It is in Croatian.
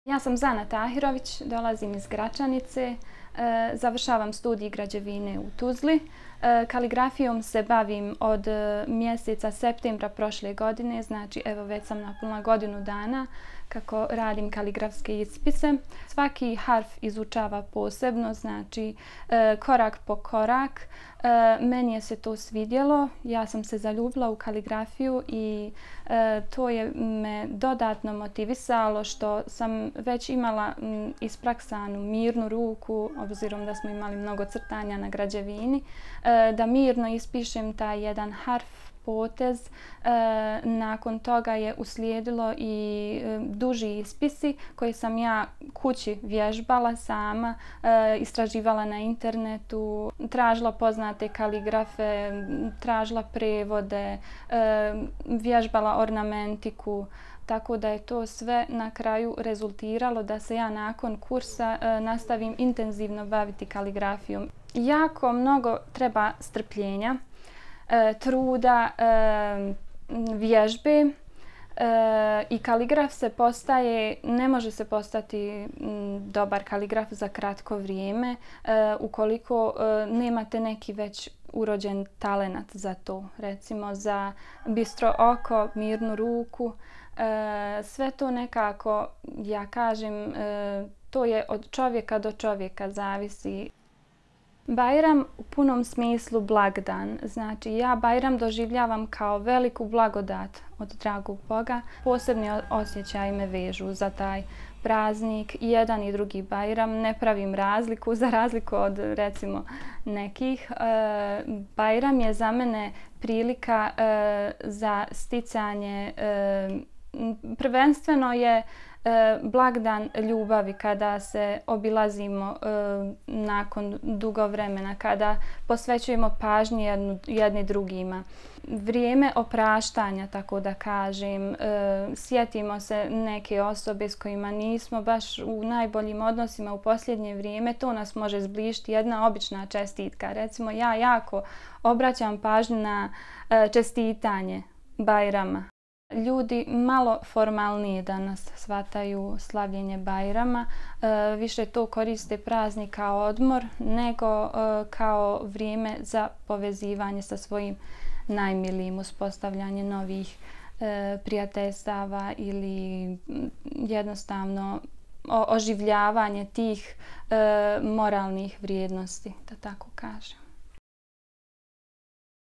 Ja sam Zana Tahirović, dolazim iz Gračanice, završavam studij građevine u Tuzli. Kaligrafijom se bavim od mjeseca septembra prošle godine, znači evo već sam napunila godinu dana kako radim kaligrafske ispise. Svaki harf izučava posebno, znači korak po korak. Meni je se to svidjelo, ja sam se zaljubila u kaligrafiju i to je me dodatno motivisalo što sam već imala ispraksanu mirnu ruku, obzirom da smo imali mnogo crtanja na građevini, da mirno ispišem taj jedan harf, potez. Nakon toga je uslijedilo i duži ispisi koji sam ja kući vježbala sama, istraživala na internetu, tražila poznate kaligrafe, tražila prevode, vježbala ornamentiku. Tako da je to sve na kraju rezultiralo da se ja nakon kursa nastavim intenzivno baviti kaligrafijom. Jako mnogo treba strpljenja, truda, vježbe i kaligraf se postaje, ne može se postati dobar kaligraf za kratko vrijeme ukoliko nemate neki već urođen talenat za to. Recimo za bistro oko, mirnu ruku, sve to nekako, ja kažem, to je od čovjeka do čovjeka zavisi. Bajram u punom smislu blagdan. Znači ja Bajram doživljavam kao veliku blagodat od dragog Boga. Posebni osjećaji me vežu za taj praznik. I jedan i drugi Bajram. Ne pravim razliku za razliku od recimo nekih. Bajram je za mene prilika za sticanje, prvenstveno je blagdan ljubavi kada se obilazimo nakon dugo vremena, kada posvećujemo pažnju jedni drugima. Vrijeme opraštanja, tako da kažem, sjetimo se neke osobe s kojima nismo baš u najboljim odnosima u posljednje vrijeme, to nas može zbližiti jedna obična čestitka. Recimo ja jako obraćam pažnju na čestitanje Bajrama. Ljudi malo formalnije danas shvataju slavljenje Bajrama, više to koriste praznik kao odmor nego kao vrijeme za povezivanje sa svojim najmilijim, uspostavljanje novih prijateljstava ili jednostavno oživljavanje tih moralnih vrijednosti, da tako kažem.